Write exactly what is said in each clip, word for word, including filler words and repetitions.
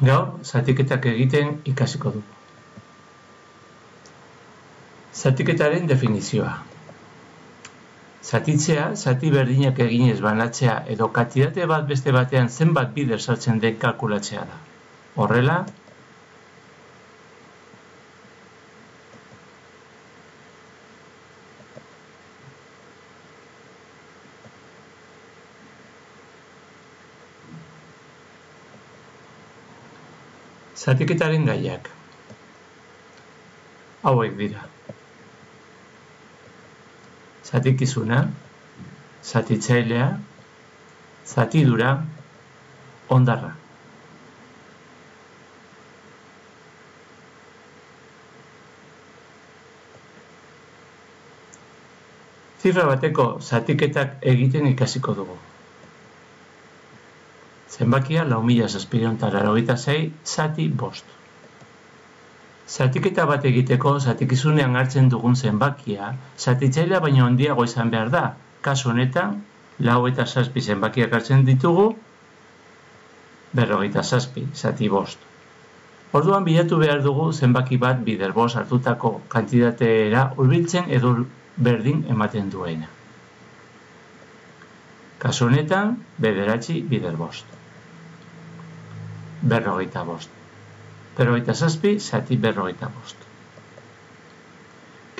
Gaur, zatiketak egiten ikasiko dugu. Zatiketaren definizioa. Zatitzea, zati berdinak eginez banatzea edo kantitate bat beste batean zenbat bider sartzen den kalkulatzea da. Horrela, zatiketaren gaiak hauek dira. Zatikizuna, zatitzailea, zatidura, hondarra. Zifra bateko zatiketak egiten ikasiko dugu. Zenbakia lau mila zazpiehun eta laurogeita sei zati bost. Zatiketa bat egiteko zatikizunean hartzen dugun zenbakia zatitzailea baino handiago izan behar da. Kasu honetan, lau eta zazpi zenbakiak hartzen ditugu, berrogeita zazpi zati bost. Orduan bilatu behar dugu zenbaki bat bider bost hartutako kantitatera hurbiltzen edo berdin ematen duena. Kasu honetan, bederatzi bider bost. Berrogeita bost. Berrogeita zazpi, zati berrogeita bost.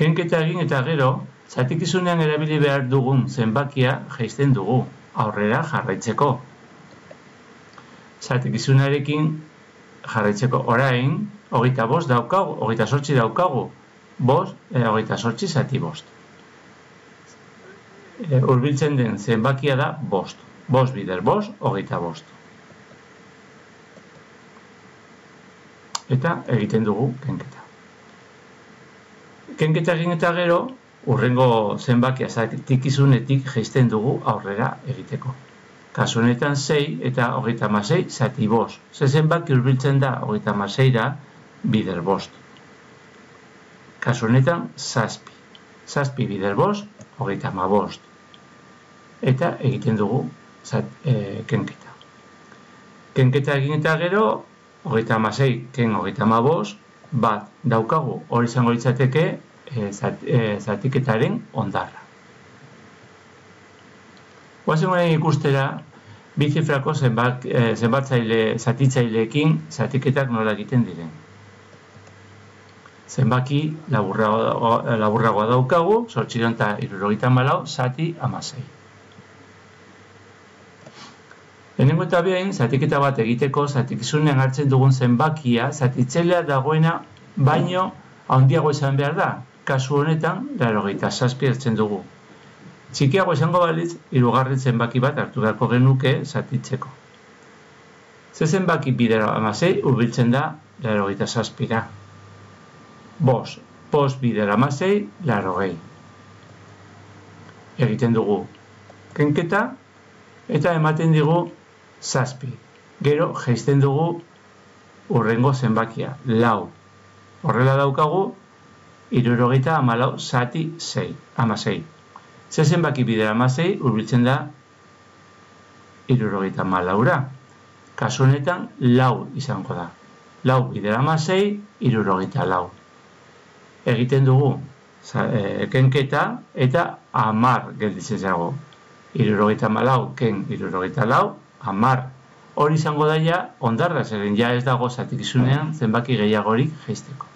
Kenketa egin eta gero, zatikizunean erabili behar dugun zenbakia jaisten dugu, aurrera jarraitzeko. Zatikizunarekin jarraitzeko orain, hogeita bost daukagu, hogeita zortzi daukagu, bost, e, hogeita zortzi zati bost. E, Hurbiltzen den zenbakia da bost. Bost bider bost, hogeita bost. Eta egiten dugu kenketa. Kenketa egin eta gero, hurrengo zenbakia zatikizunetik jaisten dugu aurrera egiteko. Kasu honetan sei eta hogeita hamasei zati bost. Ze zenbaki hurbiltzen da hogeita hamaseira bider bost. Kasu honetan zazpi. Zazpi bider bost, hogeita hamabost. Eta egiten dugu zat, e, kenketa. Kenketa egin eta gero, hogeita hamasei ken hogeita hamabost, bat daukagu hori izango litzateke e, zat, e, zatiketaren hondarra. Guazen honen ikustera, bi zifrako zenbat, e, zenbatzaile zatitzaileekin zatiketak nola egiten diren. Zenbaki laburragoa, laburragoa daukagu, zortziehun eta hirurogeita hamalau zati hamasei. Lehenengo eta behin, zatiketa bat egiteko zatikizunean hartzen dugun zenbakia zatitzailea dagoena baino handiago izan behar da. Kasu honetan, laurogeita zazpi hartzen dugu. Txikiago izango balitz, hirugarren zenbaki bat hartu beharko genuke zatitzeko. Ze zenbaki bider hamasei hurbiltzen da laurogeita zazpira. Bost, bost bider hamasei, laurogei. Egiten dugu kenketa eta ematen digu zazpi. Gero jaisten dugu hurrengo zenbakia, lau. Horrela daukagu, hirurogeita hamalau zati sei, hamasei. Ze zenbaki bider hamasei hurbiltzen da hirurogeita hamalaura. Kasu honetan, lau izango da. Lau bider hamasei, hirurogeita lau. Egiten dugu e, kenketa eta hamar gelditzen zago. Hirurogeita hamalau ken hirurogeita lau, hamar. Hori izango daia hondarra, zeren ja ez dago zatikizunean zenbaki gehiagorik jaisteko.